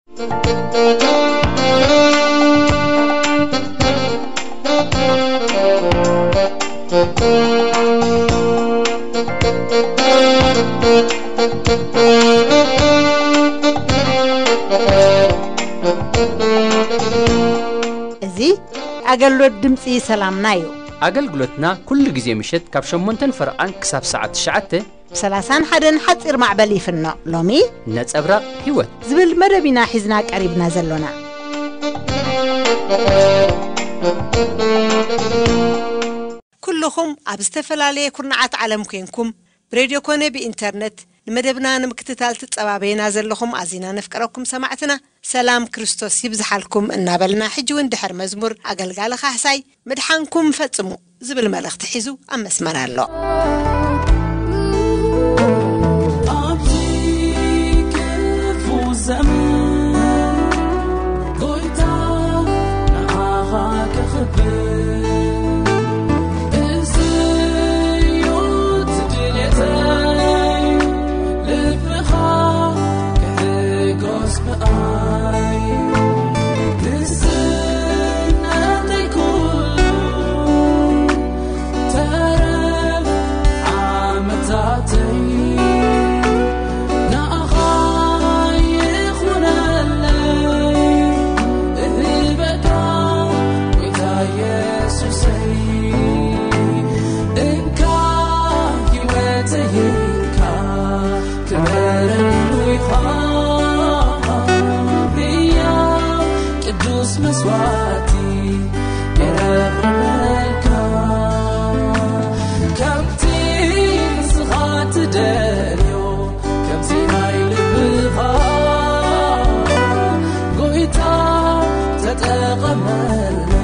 እዚ ኣገልግሎት ድምፂ ሰላምና እዩ። ኣገልግሎትና ኩሉ ግዜ ምሸት ካብ ሸሞንተን ፈረቓን ክሳብ ሰዓት ትሽዓተ ብ ሰላሳን ሓደን ሓፂር ማዕበል ይፍኖ። ሎሚ ነጸብራቕ ህይወት ዝብል መደብ ኢና ሒዝና ቀሪብና ዘሎና። ኩልኹም ኣብ ዝተፈላለየ ኩርናዓት ዓለም ኮንኩም ብሬድዮ ኮነ ብኢንተርነት ንመደብና ንምክትታል ትጸባበዩና ዘለኹም ኣዚና ነፍቅረኩም ሰማዕትና፣ ሰላም ክርስቶስ ይብዝሓልኩም እናበልና፣ ሕጂ እውን ድሕሪ መዝሙር ኣገልጋሊ ካሕሳይ ምድሓንኩም ፈጽሙ ዝብል መልእኽቲ ሒዙ ኣብ መስመር ኣሎ። ኣብዚ ክፉ ዘመን ጎይታ ንዓኻ ከኽብር፣ እዚ እዩ እቲ ድሌተይ፣ ልብኻ ክሕጎስ ብኣይ። ንስነተይ ኩሉ ተረፍ ዓመታተይ ንኣኻ ይኹነለይ፣ እህበካ ጎይታ የሱሰይ። እንካ ህይወተይ እንካ ክበረሉ ኢኻ፣ ህያው ቅዱስ መስዋእቲ የረብረበልካ። ከምቲ ንስኻ ትደልዮ፣ ከምቲ ናይ ልብኻ ጎይታ ተጠቐመለይ።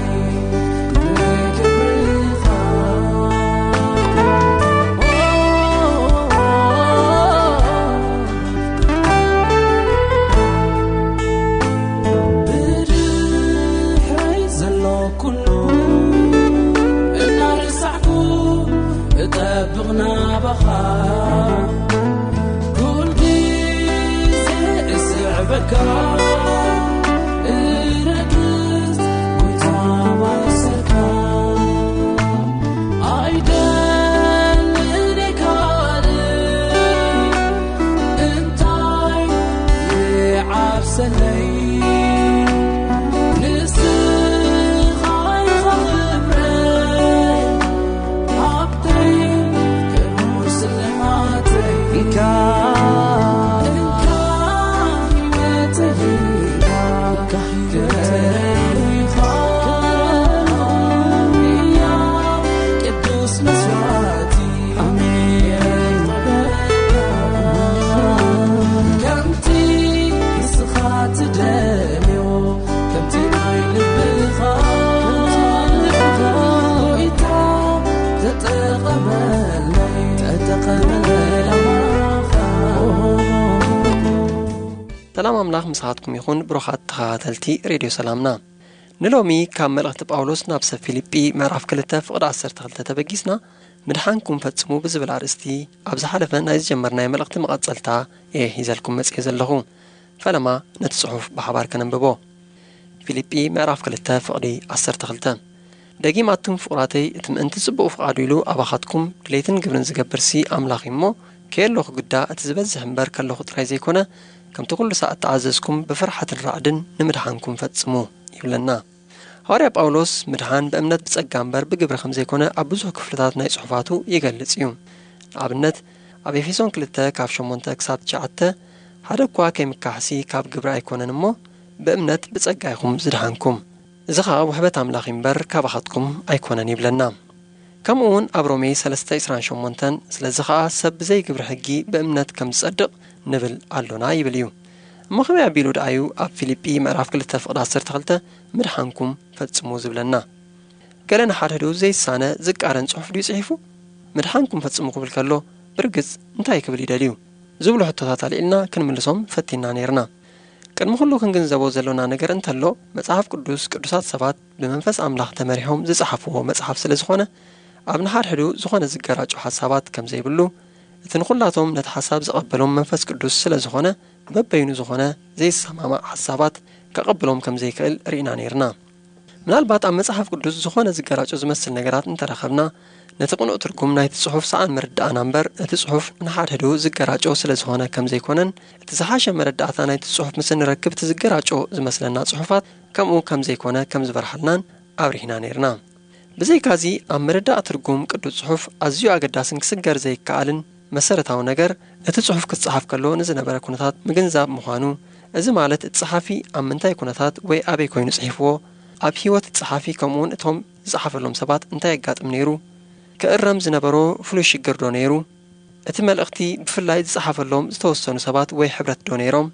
ብድሕረይ ዘሎ ኩሉ እናረሳዕኩ እጠብቕ ናባኻ። ኩል ግዜ እስዕበካ፣ እረግጽ ጎይታ ማእሰርካ። ኣይደልን ካልእ እንታይ ይዓብሰለይ? ንስኻ ኢኻ ክብረይ፣ ሃብተይ፣ ክቡር ስልማተይ። እንካ፣ እንካ ህይወተይ፣ እንካ ክብረይ ኢኻ፣ ቅዱስ መስዋእቲ። ኣሜን። ከምቲ ንስኻ ትደልዮ፣ ከምቲ ናይ ልብኻ ጎይታ ተጠቐመለይ፣ ተጠቐመለይ። ሰላም ኣምላኽ ምሳኻትኩም ይኹን፣ ብሩኻት ተኸታተልቲ ሬድዮ ሰላምና። ንሎሚ ካብ መልእኽቲ ጳውሎስ ናብ ሰብ ፊልጲ ምዕራፍ ክልተ ፍቕዲ ዓሰርተ ክልተ ተበጊስና፣ ምድሓንኩም ፈጽሙ ብዝብል ኣርእስቲ ኣብ ዝሓለፈ ናይ ዝጀመርናዮ መልእኽቲ መቐጸልታ እየ ሒዘልኩም መጺኤ ዘለኹ። ፈለማ ነቲ ጽሑፍ ብሓባር ከነንብቦ። ፊልጲ ምዕራፍ ክልተ ፍቕዲ ዓሰርተ ክልተ። ደጊማትኩም ፍቑራተይ፣ እቲ ምእንቲ ጽቡቕ ፍቓዱ ኢሉ ኣባኻትኩም ድሌትን ግብርን ዝገብርሲ ኣምላኽ እዩ እሞ፣ ከየለኹ ግዳ እቲ ዝበዝሕ እምበር ከለኹ ጥራይ ዘይኮነ፣ ከምቲ ኩሉ ሳዕ እተኣዘዝኩም ብፍርሓትን ራዕድን ንምድሓንኩም ፈጽሙ ይብለና። ሃዋርያ ጳውሎስ ምድሓን ብእምነት ብጸጋ እምበር ብግብሪ ከም ዘይኮነ ኣብ ብዙሕ ክፍልታት ናይ ጽሑፋቱ ይገልጽ እዩ። ንኣብነት፣ ኣብ ኤፌሶን ክልተ ካብ ሸሞንተ ክሳብ ትሽዓተ፣ ሓደ እኳ ከይምካሕሲ ካብ ግብሪ ኣይኮነን እሞ፣ ብእምነት ብጸጋ ኢኹም ዝድሓንኩም። እዚ ኸኣ ውሕበት ኣምላኽ እዩ እምበር ካባኻትኩም ኣይኮነን ይብለና። ከምኡ እውን ኣብ ሮሜ ሰለስተ ዕስራን ሸሞንተን፣ ስለዚ ኸኣ ሰብ ብዘይ ግብሪ ሕጊ ብእምነት ከም ዝጸድቕ ንብል ኣሎና ይብል እዩ። እሞ ከመይ ኣቢሉ ደኣዩ ኣብ ፊልጲ ምዕራፍ ክልተ ፍቕዲ ዓሰርተ ክልተ ምድሓንኩም ፈጽሙ ዝብለና? ገለ ንሓድሕዱ ዘይሳነ ዝቃረን ጽሑፍ ድዩ ጽሒፉ? ምድሓንኩም ፈጽሙ ክብል ከሎ፣ ብርግጽ እንታይ ክብል ይደልዩ? ዝብሉ ሕቶታት ኣልዒልና ክንምልሶም ፈቲና ነይርና። ቅድሚ ኩሉ ክንግንዘቦ ዘሎና ነገር እንተሎ፣ መጽሓፍ ቅዱስ ቅዱሳት ሰባት ብመንፈስ ኣምላኽ ተመሪሖም ዝጸሓፍዎ መጽሓፍ ስለ ዝኾነ፣ ኣብ ንሓድሕዱ ዝኾነ ዝገራጮ ሓሳባት ከም ዘይብሉ፣ እቲ ንኹላቶም ነቲ ሓሳብ ዝቐበሎም መንፈስ ቅዱስ ስለ ዝኾነ፣ በበይኑ ዝኾነ ዘይሰማማዕ ሓሳባት ከቐብሎም ከም ዘይክእል ርኢና ነይርና። ምናልባት ኣብ መጽሓፍ ቅዱስ ዝኾነ ዝገራጮ ዝመስል ነገራት እንተረኸብና፣ ነቲ ቅኑዕ ትርጉም ናይቲ ጽሑፍ ሰኣን ምርዳእና እምበር፣ እቲ ጽሑፍ ንሓድሕዱ ዝገራጮ ስለ ዝኾነ ከም ዘይኮነን፣ እቲ ዝሓሸ መረዳእታ ናይቲ ጽሑፍ ምስ እንረክብ እቲ ዝገራጮ ዝመስለና ጽሑፋት ከምኡ ከም ዘይኮነ ከም ዝበርሃልናን ኣብሪህና ነይርና። ብዘይካዚ ኣብ ምርዳእ ትርጉም ቅዱስ ጽሑፍ ኣዝዩ ኣገዳስን ክስገር ዘይከኣልን መሰረታዊ ነገር፣ እቲ ጽሑፍ ክጸሓፍ ከሎ ንዝነበረ ኩነታት ምግንዛብ ምዃኑ፣ እዚ ማለት እቲ ጸሓፊ ኣብ ምንታይ ኩነታት ወይ ኣበይ ኮይኑ ጽሒፍዎ፣ ኣብ ህይወት እቲ ጸሓፊ ከምኡውን እቶም ዝጸሓፈሎም ሰባት እንታይ የጋጥም ነይሩ፣ ክእረም ዝነበሮ ፍሉይ ሽግር ዶ ነይሩ፣ እቲ መልእኽቲ ብፍላይ ዝጸሓፈሎም ዝተወሰኑ ሰባት ወይ ሕብረት ዶ ነይሮም፣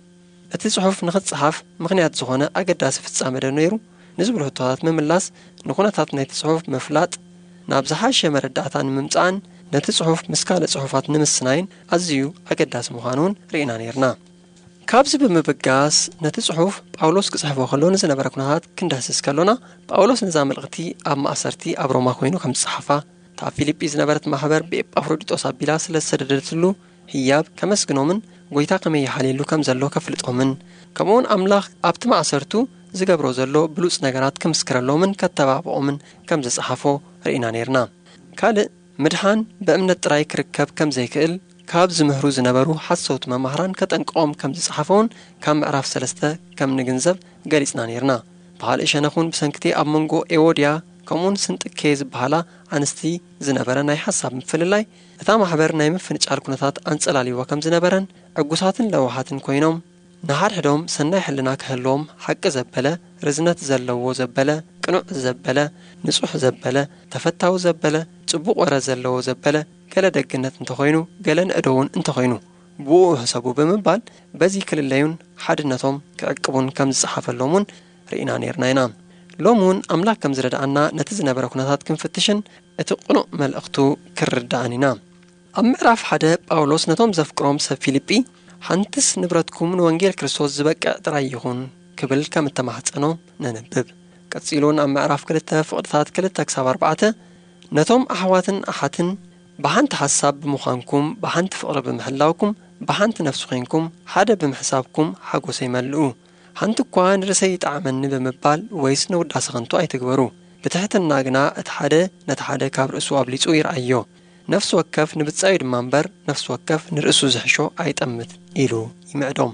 እቲ ጽሑፍ ንኽጸሓፍ ምኽንያት ዝኾነ ኣገዳሲ ፍጻመ ዶ ነይሩ ንዝብሉ ሕቶታት ምምላስ ንኩነታት ናይቲ ጽሑፍ ምፍላጥ ናብ ዝሓሸ መረዳእታ ንምምጻእን ነቲ ጽሑፍ ምስ ካልእ ጽሑፋት ንምስናይን ኣዝዩ ኣገዳሲ ምዃኑ እውን ርኢና ነይርና። ካብዚ ብምብጋስ ነቲ ጽሑፍ ጳውሎስ ክጽሕፎ ከሎ ንዝነበረ ኩነታት ክንዳህስስ ከሎና፣ ጳውሎስ ነዛ መልእኽቲ ኣብ ማእሰርቲ ኣብ ሮማ ኮይኑ ከም ዝጸሓፋ፣ እታ ኣብ ፊልጲ ዝነበረት ማሕበር ብኤጳፍሮዲጦስ ኣቢላ ስለ ዝሰደደትሉ ህያብ ከመስግኖምን ጎይታ ከመይ ይሓልየሉ ከም ዘሎ ከፍልጦምን፣ ከምኡውን ኣምላኽ ኣብቲ ማእሰርቱ ዝገብሮ ዘሎ ብሉጽ ነገራት ክምስክረሎምን ከተባብዖምን ከም ዝጸሓፎ ርኢና ነይርና። ካልእ ምድሓን ብእምነት ጥራይ ክርከብ ከም ዘይክእል ካብ ዝምህሩ ዝነበሩ ሓሰውቲ መማህራን ከጠንቅቖም ከም ዝጸሓፈውን ካብ ምዕራፍ ሰለስተ ከም ንግንዘብ ገሊጽና ነይርና። ብኻልእ ሸነኽ እውን ብሰንክቲ ኣብ መንጎ ኤዎድያ ከምኡውን ስንጥኬ ዝበሃላ ኣንስቲ ዝነበረ ናይ ሓሳብ ምፍልላይ፣ እታ ማሕበር ናይ ምፍንጫል ኩነታት ኣንጸላልይዋ ከም ዝነበረን ዕጉሳትን ለዋሃትን ኮይኖም፣ ንሓድሕዶም ሰናይ ሕልና ክህልዎም ሓቂ ዘበለ፣ ርዝነት ዘለዎ ዘበለ፣ ቅኑዕ ዘበለ፣ ንጹሕ ዘበለ፣ ተፈታዊ ዘበለ፣ ጽቡቕ ወረ ዘለዎ ዘበለ፣ ገለ ደግነት እንተኾይኑ፣ ገለ ንእዶ እውን እንተኾይኑ፣ ብኡ ሕሰቡ ብምባል፣ በዚ ክልለዩን ሓድነቶም ክዕቅቡን ከም ዝጸሓፈሎም እውን ርኢና ነይርና ኢና። ሎም እውን ኣምላኽ ከም ዝረድኣና ነቲ ዝነበረ ኩነታት ክንፍትሽን እቲ ቅኑዕ መልእኽቱ ክርድኣን ኢና። ኣብ ምዕራፍ ሓደ ጳውሎስ ነቶም ዘፍቅሮም ሰብ ፊልጲ፣ ሓንትስ ንብረትኩም ንወንጌል ክርስቶስ ዝበቅዕ ጥራይ ይኹን ክብል ከም እተማሕጸኖ ነንብብ። ቀጺሉ እውን ኣብ ምዕራፍ ክልተ ፍቕድታት ክልተ ክሳብ ኣርባዕተ፣ ነቶም ኣሕዋትን ኣሓትን ብሓንቲ ሓሳብ ብምዃንኩም፣ ብሓንቲ ፍቕሪ ብምሕላውኩም፣ ብሓንቲ ነፍሲ ኮይንኩም፣ ሓደ ብምሕሳብኩም ሓጎሰይ መልኡ። ሓንቲ እኳ ንርእሰይ ይጥዓመኒ ብምባል ወይስ ንውዳሰ ከንቱ ኣይትግበሩ። ብትሕትና ግና እቲ ሓደ ነቲ ሓደ ካብ ርእሱ ኣብሊጹ ይርኣዮ። ነፍሲ ወከፍ ንብጻዩ ድማ እምበር፣ ነፍሲ ወከፍ ንርእሱ ዝሕሾ ኣይጠምት ኢሉ ይምዕዶም።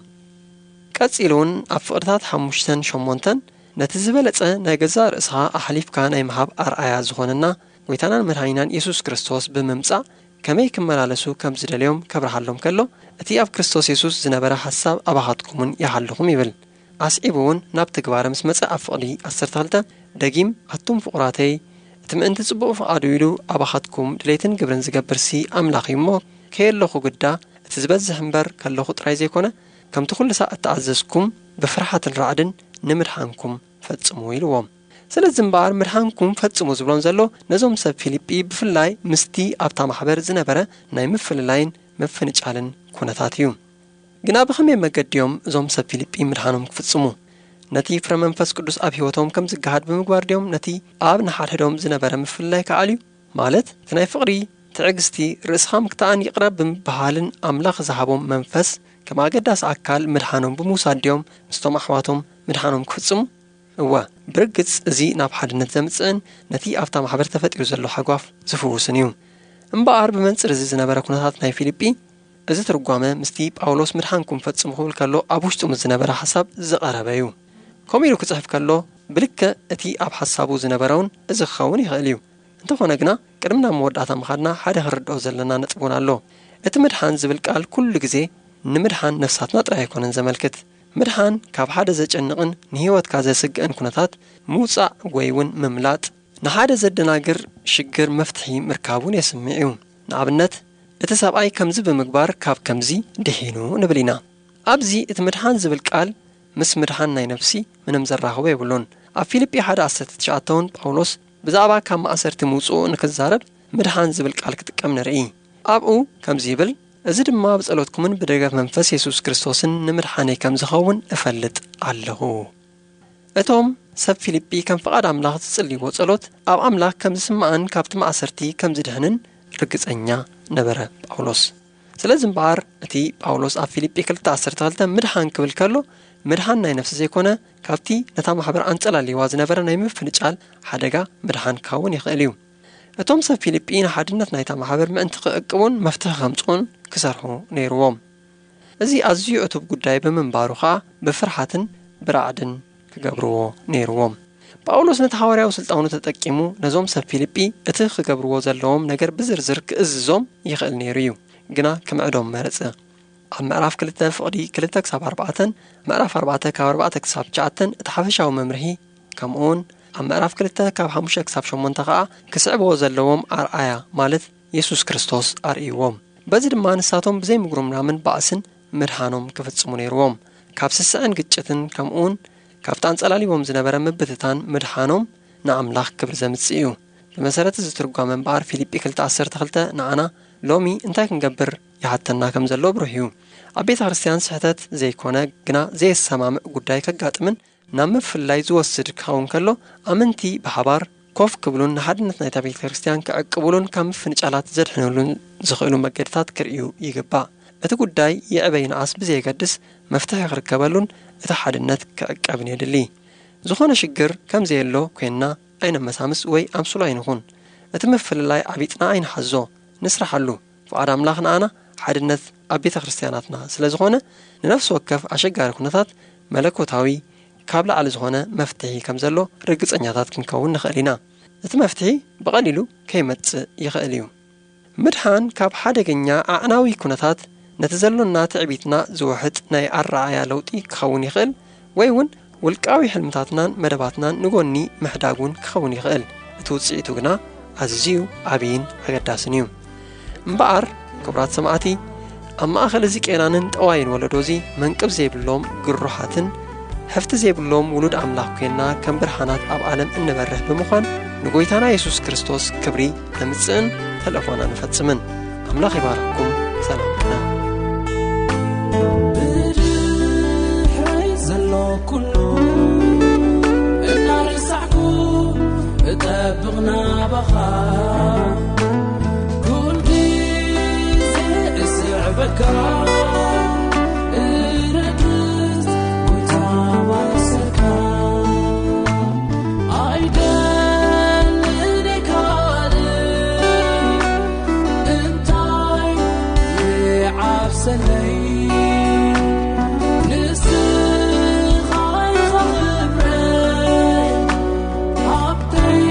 ቀጺሉ እውን ኣብ ፍቕድታት ሓሙሽተን ሸሞንተን ነቲ ዝበለጸ ናይ ገዛእ ርእስኻ ኣሕሊፍካ ናይ ምሃብ ኣርኣያ ዝኾነና ጎይታናን መድሓኒናን የሱስ ክርስቶስ ብምምጻእ ከመይ ክመላለሱ ከም ዝደልዮም ከብርሃሎም ከሎ፣ እቲ ኣብ ክርስቶስ የሱስ ዝነበረ ሓሳብ ኣባኻትኩምን ይሃልኹም ይብል። ኣስዒቡ እውን ናብ ትግባረ ምስ መጸ ኣብ ፍቕዲ ዓሰርተ ክልተ ደጊም፣ ኣቱም ፍቑራተይ፣ እቲ ምእንቲ ጽቡቕ ፍቓዱ ኢሉ ኣባኻትኩም ድሌትን ግብርን ዝገብርሲ ኣምላኽ እዩ እሞ፣ ከየለኹ ግዳ እቲ ዝበዝሕ እምበር ከለኹ ጥራይ ዘይኮነ፣ ከምቲ ኩሉ ሳዕ እተኣዘዝኩም ብፍርሃትን ራዕድን ንምድሓንኩም ፈጽሙ ኢልዎም። ስለዚ እምበኣር ምድሓንኩም ፈጽሙ ዝብሎም ዘሎ ነዞም ሰብ ፊልጲ ብፍላይ ምስቲ ኣብታ ማሕበር ዝነበረ ናይ ምፍልላይን ምፍንጫልን ኩነታት እዩ። ግና ብኸመይ መገዲ እዮም እዞም ሰብ ፊልጲ ምድሓኖም ክፍጽሙ? ነቲ ፍረ መንፈስ ቅዱስ ኣብ ህይወቶም ከም ዝገሃድ ብምግባር ድዮም ነቲ ኣብ ንሓድሕዶም ዝነበረ ምፍልላይ ክኣልዩ? ማለት እቲ ናይ ፍቕሪ፣ ትዕግስቲ፣ ርእስኻ ምክታእን ይቕረ ብምብሃልን ኣምላኽ ዝሃቦም መንፈስ ከም ኣገዳሲ ኣካል ምድሓኖም ብምውሳድ ድዮም ምስቶም ኣሕዋቶም ምድሓኖም ክፍጽሙ? እወ፣ ብርግጽ እዚ ናብ ሓድነት ዘምጽእን ነቲ ኣብታ ማሕበር ተፈጢሩ ዘሎ ሓጓፍ ዝፍውስን እዩ። እምበኣር ብመንጽር እዚ ዝነበረ ኩነታት ናይ ፊልጲ፣ እዚ ትርጓመ ምስቲ ጳውሎስ ምድሓንኩም ፈጽሙ ክብል ከሎ ኣብ ውሽጡ ምስ ዝነበረ ሓሳብ ዝቐረበ እዩ። ከምኡ ኢሉ ክጽሕፍ ከሎ ብልክዕ እቲ ኣብ ሓሳቡ ዝነበረ እውን እዚ ክኸውን ይኽእል እዩ። እንተኾነ ግና ቅድሚ ናብ መወዳእታ ምኻድና ሓደ ክርድኦ ዘለና ነጥቢ እውን ኣሎ። እቲ ምድሓን ዝብል ቃል ኩሉ ግዜ ንምድሓን ነፍሳትና ጥራይ ኣይኮነን ዘመልክት። ምድሓን ካብ ሓደ ዘጨንቕን ንህይወትካ ዘስግእን ኩነታት ምውጻእ ወይ እውን ምምላጥ፣ ንሓደ ዘደናግር ሽግር መፍትሒ ምርካብ እውን የስምዕ እዩ። ንኣብነት፣ እቲ ሰብኣይ ከምዚ ብምግባር ካብ ከምዚ ድሒኑ ንብል ኢና። ኣብዚ እቲ ምድሓን ዝብል ቃል ምስ ምድሓን ናይ ነፍሲ ምንም ዘራኽቦ የብሉን። ኣብ ፊልጲ ሓደ ዓሰርተ ትሽዓተ እውን ጳውሎስ ብዛዕባ ካብ ማእሰርቲ ምውጽኡ ንክዛረብ ምድሓን ዝብል ቃል ክጥቀም ንርኢ። ኣብኡ ከምዚ ይብል፣ እዚ ድማ ብጸሎትኩምን ብደገፍ መንፈስ የሱስ ክርስቶስን ንምድሓነይ ከም ዝኸውን እፈልጥ ኣለኹ። እቶም ሰብ ፊልጲ ከም ፍቓድ ኣምላኽ ዝጽልይዎ ጸሎት ኣብ ኣምላኽ ከም ዝስማዕን ካብቲ ማእሰርቲ ከም ዝድሕንን ርግጸኛ ነበረ ጳውሎስ። ስለዚ እምበኣር እቲ ጳውሎስ ኣብ ፊልጲ ክልተ ዓሰርተ ክልተ ምድሓን ክብል ከሎ፣ ምድሓን ናይ ነፍሲ ዘይኮነ፣ ካብቲ ነታ ማሕበር ኣንጸላልይዋ ዝነበረ ናይ ምፍንጫል ሓደጋ ምድሓን ክኸውን ይኽእል እዩ። እቶም ሰብ ፊልጲ ንሓድነት ናይታ ማሕበር ምእንቲ ክዕቅቡን መፍትሒ ከምጽኡን ክሰርሑ ነይርዎም። እዚ ኣዝዩ ዕቱብ ጉዳይ ብምንባሩ ኸኣ ብፍርሓትን ብራዕድን ክገብርዎ ነይርዎም። ጳውሎስ ነቲ ሃዋርያዊ ስልጣኑ ተጠቂሙ ነዞም ሰብ ፊልጲ እቲ ክገብርዎ ዘለዎም ነገር ብዝርዝር ክእዝዞም ይኽእል ነይሩ እዩ። ግና ክምዕዶም መረጸ። ኣብ ምዕራፍ ክልተ ፍቕዲ ክልተ ክሳብ ኣርባዕተን ምዕራፍ ኣርባዕተ ካብ ኣርባዕተ ክሳብ ትሽዓተን እቲ ሓፈሻዊ መምርሂ፣ ከምኡውን ኣብ ምዕራፍ ክልተ ካብ ሓሙሽተ ክሳብ ሸሞንተ ኸኣ ክስዕብዎ ዘለዎም ኣርኣያ ማለት የሱስ ክርስቶስ ኣርእይዎም። በዚ ድማ ንሳቶም ብዘይ ምጉርምራምን ባእስን ምድሓኖም ክፍጽሙ ነይርዎም። ካብ ስስዐን ግጭትን ከምኡውን ካብቲ ኣንጸላልይዎም ዝነበረ ምብትታን ምድሓኖም ንኣምላኽ ክብሪ ዘምጽእ እዩ። ብመሰረት እዚ ትርጓመ እምበኣር ፊልጲ ክልተ ዓሰርተ ክልተ ንዓና ሎሚ እንታይ ክንገብር ይሓተና ከም ዘሎ ብሩህ እዩ። ኣብ ቤተ ክርስቲያን ስሕተት ዘይኮነ ግና ዘየሰማምዕ ጉዳይ ከጋጥምን ናብ ምፍልላይ ዝወስድ ክኸውን ከሎ፣ ኣመንቲ ብሓባር ኮፍ ክብሉን ንሓድነት ናይታ ቤተ ክርስቲያን ክዕቅቡሉን ካብ ምፍንጫላት ዘድሕኑሉን ዝኽእሉ መገድታት ክርእዩ ይግባእ። እቲ ጉዳይ ይዕበ ይንኣስ ብዘየገድስ መፍትሒ ክርከበሉን እቲ ሓድነት ክዕቀብን የድሊ። ዝኾነ ሽግር ከም ዘየሎ ኮይንና ኣይነመሳምስ ወይ ኣምስሉ ኣይንኹን። እቲ ምፍልላይ ዓቢጥና ኣይንሓዞ፣ ንስራሓሉ። ፍቓድ ኣምላኽ ንኣና ሓድነት ኣብ ቤተ ክርስቲያናትና ስለ ዝኾነ፣ ንነፍሲ ወከፍ ኣሸጋሪ ኩነታት መለኮታዊ ካብ ላዕሊ ዝኾነ መፍትሒ ከም ዘሎ ርግጸኛታት ክንከውን ንኽእል ኢና። እቲ መፍትሒ ብቐሊሉ ከይመጽእ ይኽእል እዩ። ምድሓን ካብ ሓደገኛ ኣዕናዊ ኩነታት ነቲ ዘሎና ትዕቢትና ዝውሕጥ ናይ ኣረኣእያ ለውጢ ክኸውን ይኽእል፣ ወይ እውን ውልቃዊ ሕልምታትናን መደባትናን ንጎኒ ምሕዳግ እውን ክኸውን ይኽእል። እቲ ውጽኢቱ ግና ኣዝዩ ዓብይን ኣገዳስን እዩ። እምበኣር፣ ክቡራት ሰማዕቲ፣ ኣብ ማእከል እዚ ቄናንን ጠዋይን ወለዶ እዚ መንቅብ ዘይብሎም ግሩሓትን ሕፍቲ ዘይብሎም ውሉድ ኣምላኽ ኮይንና ከም ብርሃናት ኣብ ዓለም እንበርህ ብምዃን ንጎይታና የሱስ ክርስቶስ ክብሪ ነምጽእን ተልእኾና ንፈጽምን። ኣምላኽ ይባርኽኩም። ሰላም። ብድሕረይ ዘሎ ኩሉ እናረሳዕኩ እጠብቕ ናባኻ። ኩል ግዜ እስዕበካ፣ እረግጽ ጎይታ ዋሰካ። ኣይደልን ካልእ እንታይ ይዓብሰለይ፣ ንስኻ ኢኻ ክብረይ፣ ሃብተይ፣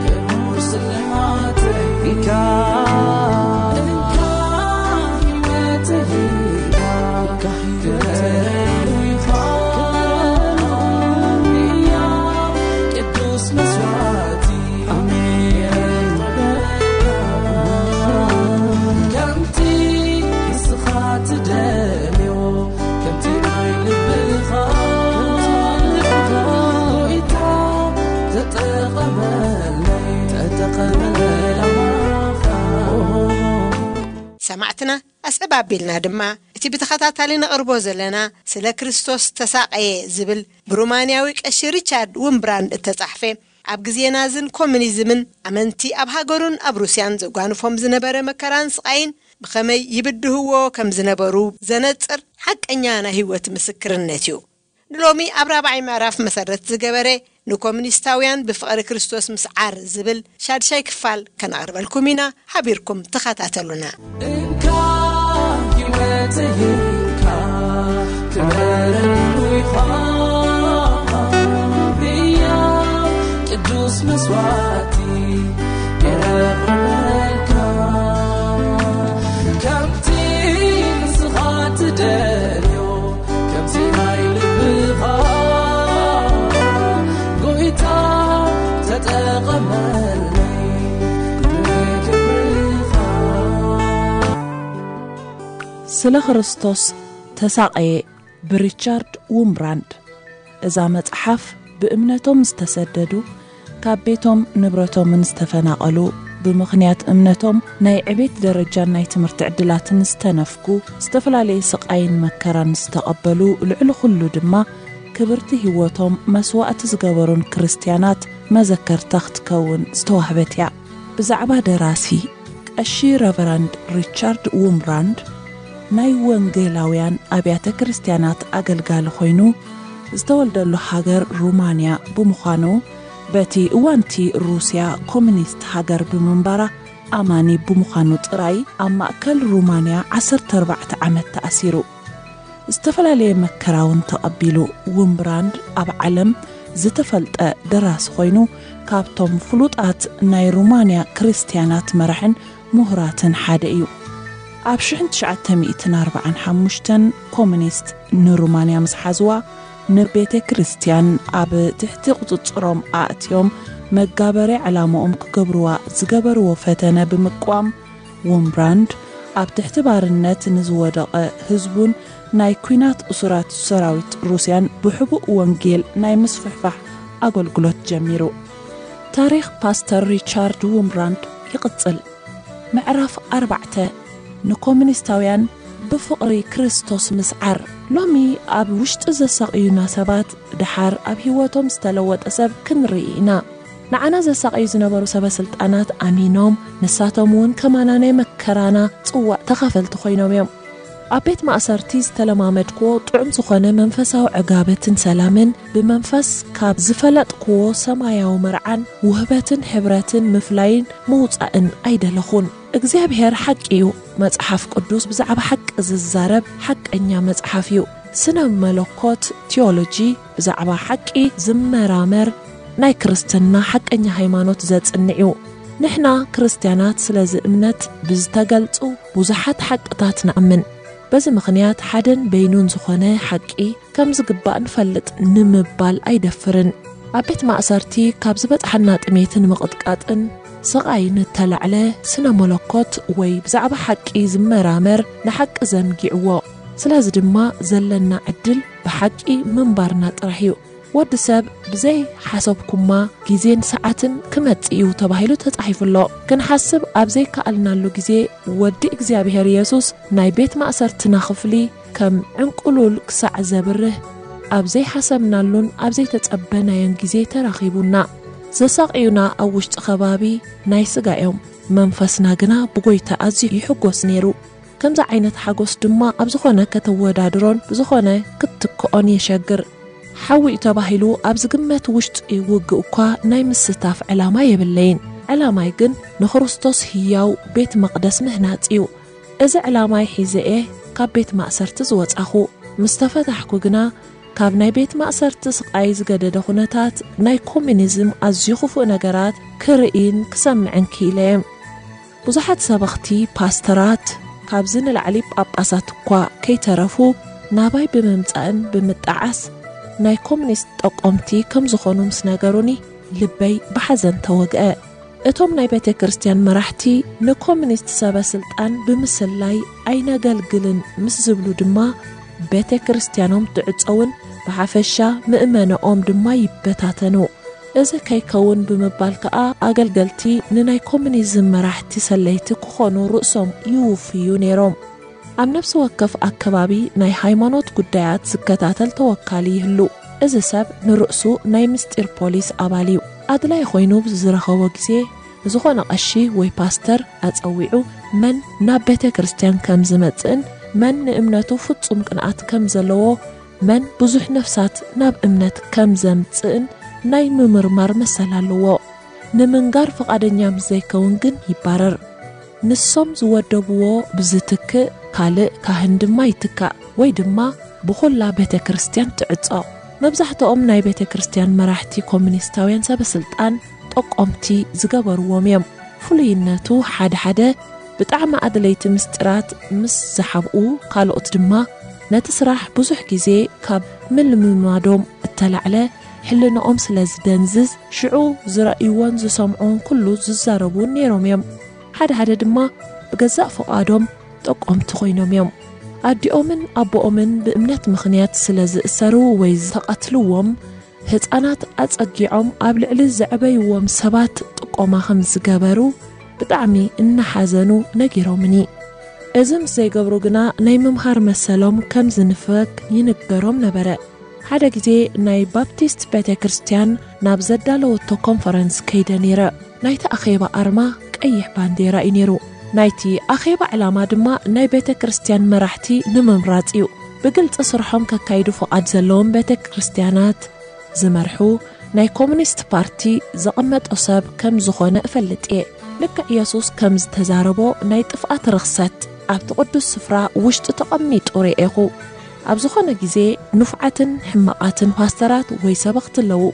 ክቡር ስልማተይ። እንካ፣ እንካ ህይወተይ፣ እንካ ህይወተይ፣ ክብረሉ ይኾን ቅዱስ መስዋእቲ። ኣሜን። ከምቲ ንስኻ ትደልዮ፣ ከምቲ ናይ ልብኻ፣ ጎይታ ተጠቐመለይ፣ ተጠቐመለይ ላማኻ። ሰማዕትና ኣስዕብ ኣቢልና ድማ እቲ ብተኸታታሊ ነቕርቦ ዘለና ስለ ክርስቶስ ተሳቐየ ዝብል ብሩማንያዊ ቀሺ ሪቻርድ ውምብራንድ እተጻሕፈ፣ ኣብ ግዜ ናዝን ኮሙኒዝምን ኣመንቲ ኣብ ሃገሩን ኣብ ሩስያን ዘጓንፎም ዝነበረ መከራን ስቓይን ብኸመይ ይብድህዎ ከም ዝነበሩ ዘነጽር ሓቀኛ ናይ ህይወት ምስክርነት እዩ። ንሎሚ ኣብ ራብዓይ ምዕራፍ መሰረት ዝገበረ ንኮሙኒስታውያን ብፍቕሪ ክርስቶስ ምስዓር ዝብል ሻድሻይ ክፋል ከነቕርበልኩም ኢና። ሓቢርኩም ተኸታተሉና። እንካ ህይወተይ እንካ ክበረሉ ይኾን ቅዱስ መስዋእቲ የቕርበልካ። ከምቲ ንስኻ ትደልዮ፣ ከምቲ ናይ ልብኻ፣ ጎይታ ተጠቐመለይ ንክብርኻ። ስለ ክርስቶስ ተሳቐየ ብሪቻርድ ውምብራንድ። እዛ መጽሓፍ ብእምነቶም ዝተሰደዱ፣ ካብ ቤቶም ንብረቶምን ዝተፈናቐሉ፣ ብምኽንያት እምነቶም ናይ ዕቤት ደረጃን ናይ ትምህርቲ ዕድላትን ዝተነፍጉ፣ ዝተፈላለየ ስቓይን መከራን ዝተቐበሉ፣ ልዕሊ ኩሉ ድማ ክብርቲ ህይወቶም መስዋእቲ ዝገበሩን ክርስትያናት መዘከርታ ክትከውን ዝተዋህበት እያ። ብዛዕባ ደራሲ ቀሺ ረቨረንድ ሪቻርድ ውምብራንድ ናይ ወንጌላውያን ኣብያተ ክርስቲያናት ኣገልጋሊ ኮይኑ፣ ዝተወልደሉ ሃገር ሩማንያ ብምዃኑ፣ በቲ እዋንቲ ሩስያ ኮሚኒስት ሃገር ብምንባራ ኣማኒ ብምዃኑ ጥራይ ኣብ ማእከል ሩማንያ ዓሰርተ ኣርባዕተ ዓመት ተኣሲሩ። ዝተፈላለየ መከራ እውን ተቐቢሉ። ውምብራንድ ኣብ ዓለም ዝተፈልጠ ደራሲ ኮይኑ፣ ካብቶም ፍሉጣት ናይ ሩማንያ ክርስትያናት መራሕን ምሁራትን ሓደ እዩ። ኣብ ሽሕን ትሽዓተ ሚእትን ኣርባዓን ሓሙሽተን ኮሚኒስት ንሩማንያ ምስ ሓዝዋ፣ ንቤተ ክርስትያን ኣብ ትሕቲ ቁጽጽሮም ኣእትዮም መጋበርያ ዕላማኦም ክገብርዋ ዝገበርዎ ፈተነ ብምቅዋም፣ ውምብራንድ ኣብ ትሕቲ ባርነት ንዝወደቐ ህዝቡን ናይ ኲናት እሱራት ሰራዊት ሩስያን ብሕቡእ ወንጌል ናይ ምስፍሕፋሕ ኣገልግሎት ጀሚሩ። ታሪኽ ፓስተር ሪቻርድ ውምብራንድ ይቕጽል። ምዕራፍ ኣርባዕተ፣ ንኮሙኒስታውያን ብፍቕሪ ክርስቶስ ምስዓር። ሎሚ ኣብ ውሽጢ ዘሳቕዩና ሰባት፣ ደሓር ኣብ ህይወቶም ዝተለወጠ ሰብ ክንርኢ ኢና። ንዓና ዘሳቕዩ ዝነበሩ ሰበ ስልጣናት ኣሚኖም፣ ንሳቶም እውን ከማና ናይ መከራና ጽዋእ ተኻፈልቲ ኮይኖም እዮም። ኣብ ቤት ማእሰርቲ ዝተለማመድክዎ ጥዑም ዝኾነ መንፈሳዊ ዕጋበትን ሰላምን፣ ብመንፈስ ካብ ዝፈለጥክዎ ሰማያዊ መርዓን ውህበትን ሕብረትን ምፍላይን ምውጻእን ኣይደለኹን። እግዚኣብሔር ሓቂ እዩ። መጽሓፍ ቅዱስ ብዛዕባ ሓቂ ዝዛረብ ሓቀኛ መጽሓፍ እዩ። ስነ መለኮት፣ ቲዮሎጂ፣ ብዛዕባ ሓቂ ዝመራመር ናይ ክርስትና ሓቀኛ ሃይማኖት ዘጽንዕ እዩ። ንሕና ክርስትያናት ስለዚ እምነት ብዝተገልጹ ብዙሓት ሓቅታት ንኣምን። በዚ ምኽንያት ሓደን በይኑን ዝኾነ ሓቂ ከም ዝግባእ ንፈልጥ ንምባል ኣይደፍርን። ኣብ ቤት ማእሰርቲ ካብ ዝበጽሓና ጥሜትን ምቕጥቃጥን ስቓይ ንተላዕለ ስነ መለኮት ወይ ብዛዕባ ሓቂ ዝመራመር ንሓቂ ዘንጊዕዎ። ስለዚ ድማ ዘለና ዕድል ብሓቂ ምንባርና ጥራሕ እዩ። ወዲ ሰብ ብዘይ ሓሰብኩማ ግዜን ሰዓትን ክመጽእ እዩ ተባሂሉ ተጻሒፉ ኣሎ። ክንሓስብ ኣብ ዘይከኣልናሉ ግዜ ወዲ እግዚኣብሔር የሱስ ናይ ቤት ማእሰርትና ክፍሊ ከም ዕንቁሉል ክሳዕ ዘብርህ ኣብ ዘይሓሰብናሉን ኣብ ዘይተጸበናዮን ግዜ ተራኺቡና። ዘሳቕዩና ኣብ ውሽጢ ከባቢ ናይ ስጋ እዮም፣ መንፈስና ግና ብጎይታ ኣዝዩ ይሕጎስ ነይሩ። ከምዚ ዓይነት ሓጎስ ድማ ኣብ ዝኾነ ከተወዳድሮን ብዝኾነ ክትትክኦን የሸግር። ሓዊ እዩ ተባሂሉ ኣብ ዝግመት ውሽጢ ውግእ እኳ ናይ ምስታፍ ዕላማ የብለይን። ዕላማይ ግን ንክርስቶስ ህያው ቤት መቕደስ ምህናጽ እዩ። እዚ ዕላማይ ሒዘ እየ ካብ ቤት ማእሰርቲ ዝወጻኹ። ምስ ተፈታሕኩ ግና ካብ ናይ ቤት ማእሰርቲ ስቓይ ዝገደደ ኩነታት ናይ ኮሚኒዝም ኣዝዩ ክፉእ ነገራት ክርእይን ክሰምዕን ክኢለ እየ። ብዙሓት ሰበኽቲ ፓስተራት ካብዚ ንላዕሊ ጳጳሳት እኳ ከይተረፉ ናባይ ብምምጻእን ብምጣዓስ ናይ ኮሚኒስት ጠቆምቲ ከም ዝኾኑ ምስ ነገሩኒ ልበይ ብሓዘን ተወግአ። እቶም ናይ ቤተ ክርስቲያን መራሕቲ ንኮሚኒስት ሰበ ስልጣን ብምስላይ ኣይነገልግልን ምስ ዝብሉ ድማ ቤተ ክርስቲያኖም ትዕጸውን ብሓፈሻ ምእመነኦም ድማ ይበታተኑ። እዚ ከይከውን ብምባል ከኣ ኣገልገልቲ ንናይ ኮሚኒዝም መራሕቲ ሰለይቲ ክኾኑ ርእሶም ይውፍዩ ነይሮም። ኣብ ነፍሲ ወከፍ ኣከባቢ ናይ ሃይማኖት ጉዳያት ዝከታተል ተወካሊ ይህሉ። እዚ ሰብ ንርእሱ ናይ ምስጢር ፖሊስ ኣባል እዩ። ኣድላይ ኮይኑ ብዝረኸቦ ግዜ ዝኾነ ቀሺ ወይ ፓስተር ኣጸዊዑ መን ናብ ቤተ ክርስቲያን ከም ዝመጽእን መን ንእምነቱ ፍጹም ቅንኣት ከም ዘለዎ መን ብዙሕ ነፍሳት ናብ እምነት ከም ዘምጽእን ናይ ምምርማር መሰል ኣለዎ። ንምንጋር ፍቓደኛ ምስ ዘይከውን ግን ይባረር። ንሶም ዝወደብዎ ብዝትክእ ካልእ ካህን ድማ ይትካእ ወይ ድማ ብኹላ ቤተ ክርስቲያን ትዕጾ። መብዛሕትኦም ናይ ቤተ ክርስቲያን መራሕቲ ኮሚኒስታውያን ሰበ ስልጣን ጠቆምቲ ዝገበርዎም እዮም። ፍሉይነቱ ሓደ ሓደ ብጣዕሚ ኣድለይቲ ምስጢራት ምስ ዝሓብኡ፣ ካልኦት ድማ ነቲ ስራሕ ብዙሕ ግዜ ካብ ምልምማዶም እተላዕለ ሕልንኦም ስለ ዝደንዝዝ፣ ሽዑ ዝረእይዎን ዝሰምዕዎን ኩሉ ዝዛረቡን ነይሮም እዮም። ሓደ ሓደ ድማ ብገዛእ ፍቓዶም ጠቆምቲ ኮይኖም እዮም። ኣዲኦምን ኣቦኦምን ብእምነት ምኽንያት ስለ ዝእሰሩ ወይ ዝተቐትልዎም፣ ህጻናት ኣጸጊዖም ኣብ ልዕሊ ዘዕበይዎም ሰባት ጥቆማ ከም ዝገበሩ ብጣዕሚ እናሓዘኑ ነጊሮምኒ። እዚ ምስ ዘይገብሩ ግና ናይ ምምሃር መሰሎም ከም ዝንፈግ ይንገሮም ነበረ። ሓደ ግዜ ናይ ባፕቲስት ቤተ ክርስቲያን ናብ ዘዳለወቶ ኮንፈረንስ ከይደ ነይረ። ናይቲ ኣኼባ ኣርማ ቀይሕ ባንዴራ እዩ ነይሩ። ናይቲ ኣኼባ ዕላማ ድማ ናይ ቤተ ክርስቲያን መራሕቲ ንምምራጽ እዩ። ብግልጺ ስርሖም ከካይዱ ፍቓድ ዘለዎም ቤተ ክርስቲያናት ዝመርሑ ናይ ኮሙኒስት ፓርቲ ዘቐመጦ ሰብ ከም ዝኾነ እፈልጥ እየ። ልክዕ የሱስ ከም ዝተዛረቦ ናይ ጥፍኣት ርኽሰት ኣብቲ ቅዱስ ስፍራ ውሽጢ ተቐሚጡ ርኤኹ። ኣብ ዝኾነ ግዜ ንፉዓትን ሕማቓትን ፓስተራት ወይ ሰበኽቲ ኣለዉ።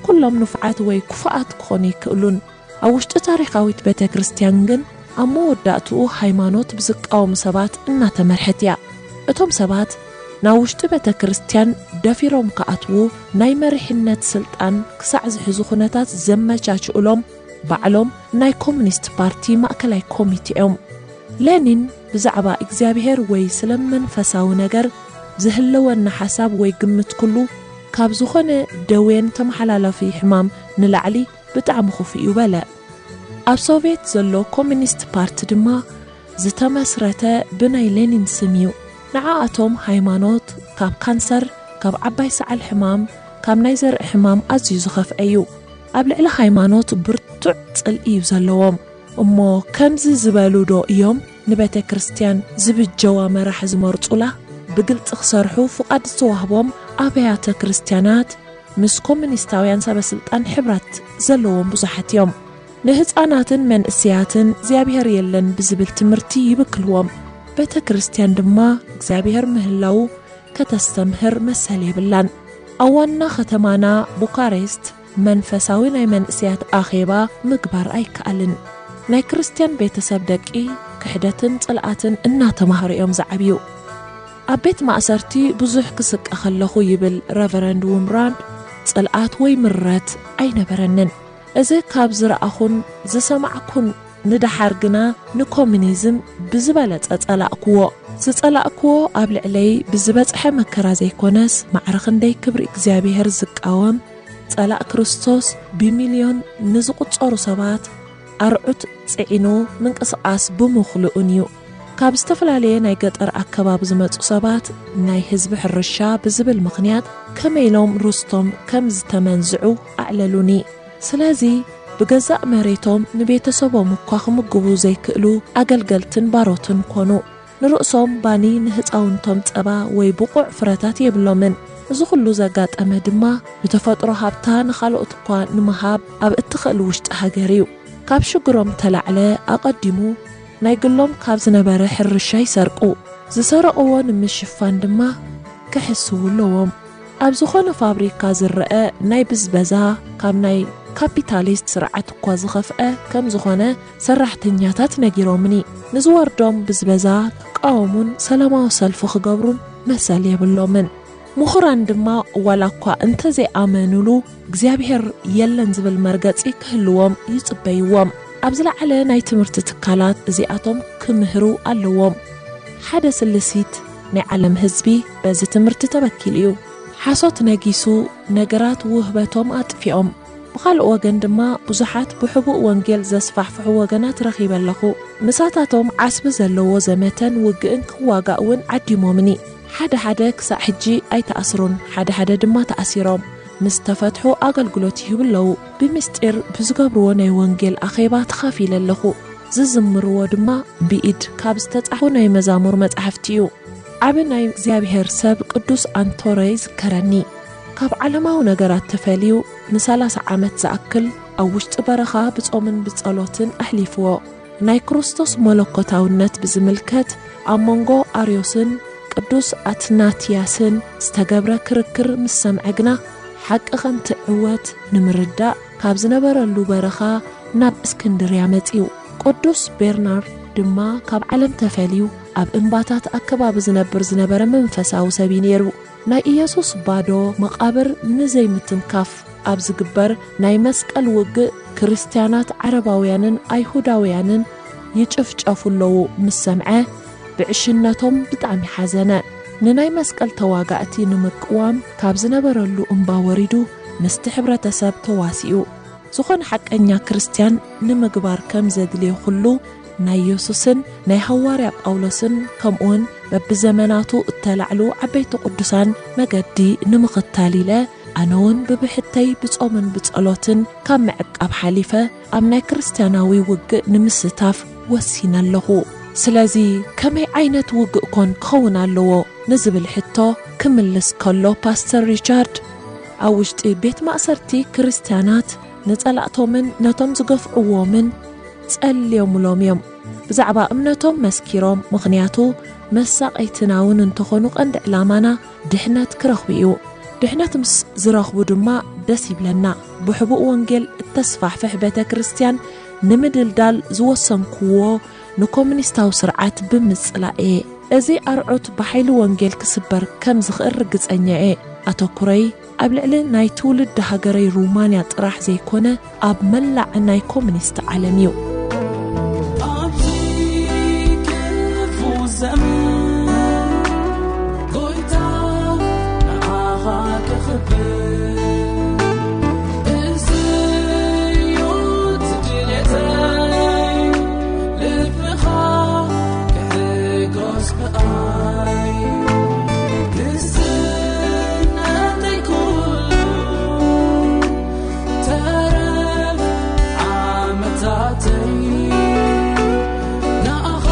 ኩሎም ንፉዓት ወይ ክፉኣት ክኾኑ ይክእሉን። ኣብ ውሽጢ ታሪኻዊት ቤተ ክርስቲያን ግን ኣብ መወዳእትኡ ሃይማኖት ብዝቃወሙ ሰባት እናተመርሐት እያ። እቶም ሰባት ናብ ውሽጢ ቤተ ክርስቲያን ደፊሮም ክኣትዉ ናይ መሪሕነት ስልጣን ክሳዕ ዝሕዙ ኩነታት ዘመቻችኡሎም ባዕሎም ናይ ኮሙኒስት ፓርቲ ማእከላይ ኮሚቴ እዮም። ሌኒን ብዛዕባ እግዚኣብሔር ወይ ስለ መንፈሳዊ ነገር ዝህልወና ሓሳብ ወይ ግምት ኩሉ ካብ ዝኾነ ደዌን ተመሓላለፊ ሕማም ንላዕሊ ብጣዕሚ ክፉእ እዩ በለ። ኣብ ሶቭየት ዘሎ ኮሙኒስት ፓርቲ ድማ ዝተመስረተ ብናይ ሌኒን ስም እዩ። ንዓኣቶም ሃይማኖት ካብ ካንሰር፣ ካብ ዓባይ ሰዓል ሕማም፣ ካብ ናይ ዘርኢ ሕማም ኣዝዩ ዝኸፍአ እዩ። ኣብ ልዕሊ ሃይማኖት ብርቱዕ ጽልኢ እዩ ዘለዎም። እሞ ከምዚ ዝበሉ ዶ እዮም ንቤተ ክርስቲያን ዝብጀዋ መራሒ ዝመርጹላ? ብግልጺ ክሰርሑ ፍቓድ ዝተዋህቦም ኣብያተ ክርስቲያናት ምስ ኮሙኒስታውያን ሰበ ስልጣን ሕብረት ዘለዎም ብዙሓት እዮም። ንህፃናትን መንእሰያትን እግዚኣብሔር የለን ብዝብል ትምህርቲ ይብክልዎም። ቤተ ክርስቲያን ድማ እግዚኣብሔር ምህላው ከተስተምህር መሰል የብላን። ኣብ ዋና ከተማና ቡካሬስት መንፈሳዊ ናይ መንእሰያት ኣኼባ ምግባር ኣይከኣልን። ናይ ክርስቲያን ቤተሰብ ደቂ ክሕደትን ጽልኣትን እናተማህሩ እዮም ዝዓብዩ። ኣብ ቤት ማእሰርቲ ብዙሕ ክስቀ ከለኹ ይብል ረቨረንድ ውምራንድ፣ ጽልኣት ወይ ምረት ኣይነበረንን። እዚ ካብ ዝረኣኹን ዝሰማዕኩን ንደሓር ግና ንኮሙኒዝም ብዝበለጸ ጸላእክዎ። ዝጸላእክዎ ኣብ ልዕለይ ብዝበጽሐ መከራ ዘይኮነስ፣ ማዕረ ክንደይ ክብሪ እግዚኣብሔር ዝቃወም ጸላእ ክርስቶስ ብሚልዮን ንዝቑጸሩ ሰባት ኣርዑት ጽዒኑ ምንቅስቓስ ብምኽልኡን እዩ። ካብ ዝተፈላለየ ናይ ገጠር ኣከባቢ ዝመጹ ሰባት ናይ ህዝቢ ሕርሻ ብዝብል ምኽንያት ከመይ ኢሎም ርስቶም ከም ዝተመንዝዑ ኣዕለሉኒ። ስለዚ ብገዛእ መሬቶም ንቤተሰቦም እኳ ክምግቡ ዘይክእሉ ኣገልገልትን ባሮትን ኮኑ። ንርእሶም ባኒ፣ ንህፃውንቶም ፀባ ወይ ብቑዕ ፍረታት የብሎምን። እዚ ኩሉ ዘጋጠመ ድማ ብተፈጥሮ ሃብታ ንኻልኦት እኳ ንምሃብ ኣብ እትኽእል ውሽጢ ሃገር እዩ። ካብ ሽግሮም ተላዕለ ኣቐዲሙ ናይ ግሎም ካብ ዝነበረ ሕርሻ ይሰርቁ። ዝሰረቕዎ ንምሽፋን ድማ ክሕስዉ ኣለዎም። ኣብ ዝኾነ ፋብሪካ ዝረአ ናይ ብዝበዛ ካብ ናይ ካፒታሊስት ስርዓት እኳ ዝኸፍአ ከም ዝኾነ ሰራሕተኛታት ነጊሮምኒ። ንዝወርዶም ብዝበዛ ክቃወሙን ሰላማዊ ሰልፊ ክገብሩን መሰል የብሎምን። ምሁራን ድማ ዋላ እኳ እንተዘይኣመኑሉ እግዚኣብሔር የለን ዝብል መርገጺ ክህልዎም ይጽበይዎም። ኣብ ዝለዓለ ናይ ትምህርቲ ትካላት እዚኣቶም ክምህሩ ኣለዎም። ሓደ ስልሲት ናይ ዓለም ህዝቢ በዚ ትምህርቲ ተበኪሉ እዩ። ሓሶት ነጊሱ ነገራት ውህበቶም ኣጥፊኦም። ብኻልእ ወገን ድማ ብዙሓት ብሕቡእ ወንጌል ዘስፋሕፍሑ ወገናት ረኺበ ኣለኹ። ምሳታቶም ዓስቢ ዘለዎ ዘመተን ውግእን ክዋጋእ እውን ዓዲሞምኒ። ሓደ ሓደ ክሳዕ ሕጂ ኣይተኣስሩን፣ ሓደ ሓደ ድማ ተኣሲሮም ምስ ተፈትሑ ኣገልግሎት ይህቡ ኣለዉ። ብምስጢር ብዝገብርዎ ናይ ወንጌል ኣኼባ ተኻፊለ ኣለኹ። ዝዝምርዎ ድማ ብኢድ ካብ ዝተጻሕፉ ናይ መዛሙር መጻሕፍቲ እዩ። ዓቢ ናይ እግዚኣብሔር ሰብ ቅዱስ ኣንቶረ ይዝከረኒ። ካብ ዓለማዊ ነገራት ተፈልዩ ንሰላሳ ዓመት ዝኣክል ኣብ ውሽጢ በረኻ ብጾምን ብጸሎትን ኣሕሊፍዎ። ናይ ክርስቶስ መለኮታውነት ብዝምልከት ኣብ መንጎ ኣርዮስን ቅዱስ ኣትናትያስን ዝተገብረ ክርክር ምስ ሰምዐ ግና፣ ሓቂ ከም ትዕወት ንምርዳእ ካብ ዝነበረሉ በረኻ ናብ እስክንድርያ መጺኡ። ቅዱስ ቤርናርድ ድማ ካብ ዓለም ተፈልዩ ኣብ እምባታት ኣከባቢ ዝነብር ዝነበረ መንፈሳዊ ሰብ እዩ ነይሩ። ናይ ኢየሱስ ባዶ መቓብር ንዘይምትንካፍ ኣብ ዝግበር ናይ መስቀል ውግእ ክርስትያናት ዓረባውያንን ኣይሁዳውያንን ይጭፍጨፉ ኣለዉ ምስ ሰምዐ ብዕሽነቶም ብጣዕሚ ሓዘነ። ንናይ መስቀል ተዋጋእቲ ንምቅዋም ካብ ዝነበረሉ እምባ ወሪዱ ምስቲ ሕብረተሰብ ተዋሲኡ። ዝኾነ ሓቀኛ ክርስትያን ንምግባር ከም ዘድልዮ ኩሉ ናይ የሱስን ናይ ሃዋርያ ጳውሎስን ከምኡውን በብዘመናቱ እተላዕሉ ዓበይቲ ቅዱሳን መገዲ ንምኽታል ኢለ ኣነ እውን ብብሕተይ ብጾምን ብጸሎትን ካብ ምዕቃብ ሓሊፈ ኣብ ናይ ክርስትያናዊ ውግእ ንምስታፍ ወሲነ ኣለኹ። ስለዚ ከመይ ዓይነት ውግእ ኮን ክኸውን ኣለዎ ንዝብል ሕቶ ክምልስ ከሎ ፓስተር ሪቻርድ፣ ኣብ ውሽጢ ቤት ማእሰርቲ ክርስትያናት ንጸላእቶምን ነቶም ዝገፍዕዎምን ጸልዮምሎም እዮም። ብዛዕባ እምነቶም መስኪሮም፣ ምኽንያቱ መሳቐይትና እውን እንተኾኑ ቀንዲ ዕላማና ድሕነት ክረኽቡ እዩ። ድሕነት ምስ ዝረኽቡ ድማ ደስ ይብለና። ብሕቡእ ወንጌል እተስፋሕፍሕ ቤተ ክርስቲያን ንምድልዳል ዝወሰንክዎ ንኮሙኒስታዊ ስርዓት ብምጽላእ እየ። እዚ ኣርዑት ብሓይሊ ወንጌል ክስበር ከም ዝኽእል ርግጸኛ እየ። ኣተኩረይ ኣብ ልዕሊ ናይ ትውልዲ ሃገረይ ሩማንያ ጥራሕ ዘይኮነ፣ ኣብ መላእ ናይ ኮሙኒስት ዓለም እዩ። ኣብዚ ክፉእ ዘመን ጎይታ ንዓኻ ክኽብር፣ እዚ እዩ ድሌተይ፣ ልብኻ ክሕጎስ ብኣይ። ንስነተይ ኩሉ ተረፍ ዓመታተይ ንኣኻ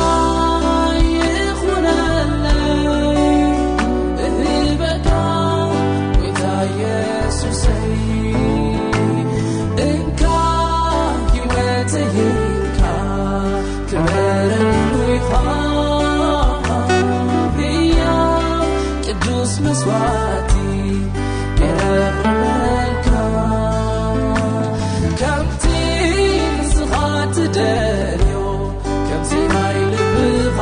ይኹነለይ፣ እህበካ ጎይታ ኢየሱሰይ። እንካ ህይወተይ እንካ ክበረሉ ኢኻ፣ ህያው ቅዱስ መስዋዕቲ የቕርበልካ። ከምቲ ንስኻ ትደልዮ፣ ከምቲ ናይ ልብኻ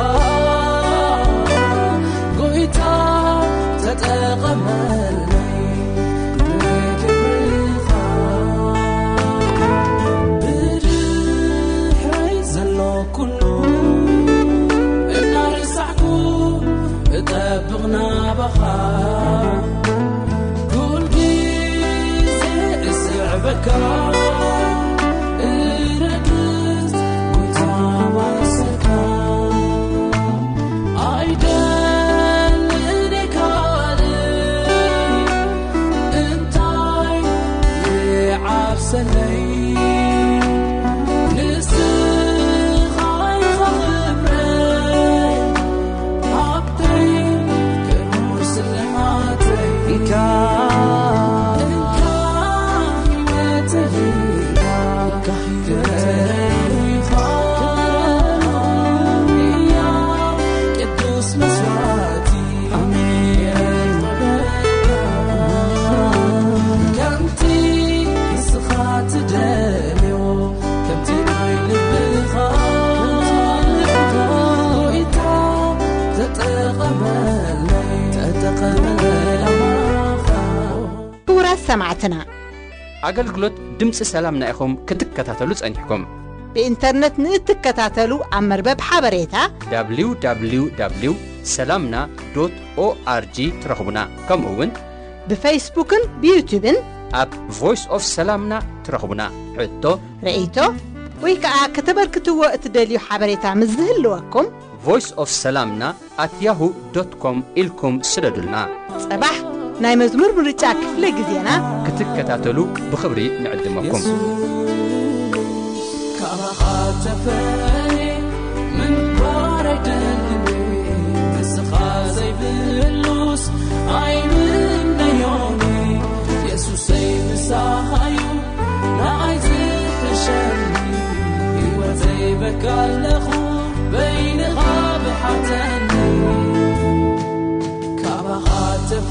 ጎይታ ተጠቐመለይ ንክብርኻ። ብድሕረይ ዘሎ ኩሉ እናረሳዕኩ እጠብቕ ናባኻ። ኩል ግዜ እስዕበካ፣ እረግጽ ጎይታ ማእሰርካ። ኣይደልን ካልእ እንታይ ይዓብሰለይ፣ ንስኻ ኢኻ ክብረይ፣ ሃብተይ ክቡር ስልማተይ። እንካ፣ እንካ ህይወተይ፣ እንካ ህይወተይ ኢኻ፣ ቅዱስ መስዋዕቲ። ኣሜን። ከምቲ ንስኻ ትደልዮ፣ ከምቲ ናይ ልብኻ ጎይታ ተጠቐመለይ፣ ተጠቐመለይ። ክቡራት ሰማዕትና፣ ኣገልግሎት ድምፂ ሰላምና ኢኹም ክትከታተሉ ጸኒሕኩም። ብኢንተርነት ንእትከታተሉ ኣብ መርበብ ሓበሬታ www ሰላምና ዶት ኦኣርጂ ትረኽቡና። ከምኡ እውን ብፌስቡክን ብዩቱብን ኣብ ቮይስ ኦፍ ሰላምና ትረኽቡና። ሕቶ፣ ርእይቶ ወይ ከዓ ከተበርክትዎ እትደልዩ ሓበሬታ ምስ ዝህልወኩም ቮይስ ኦፍ ሰላምና ኣት ያሁ ዶት ኮም ኢልኩም ስደዱልና። ጸባሕ ናይ መዝሙር ምርጫ ክፍለ ግዜና ክትከታተሉ ብኽብሪ ንዕድመኩም። የሱስ፣ ካባኻ ተፈልየ ምንባር ኣይደልን፣ ንስኻ ዘይብህሉስ ኣይምነዮን። የሱሰይ ምሳኻዩ ንዓይ ዝሕሸኒ፣ ህይወተይ በካ ኣለኹ በይንኻ ብሓተኒ። ካባኻ ተፈ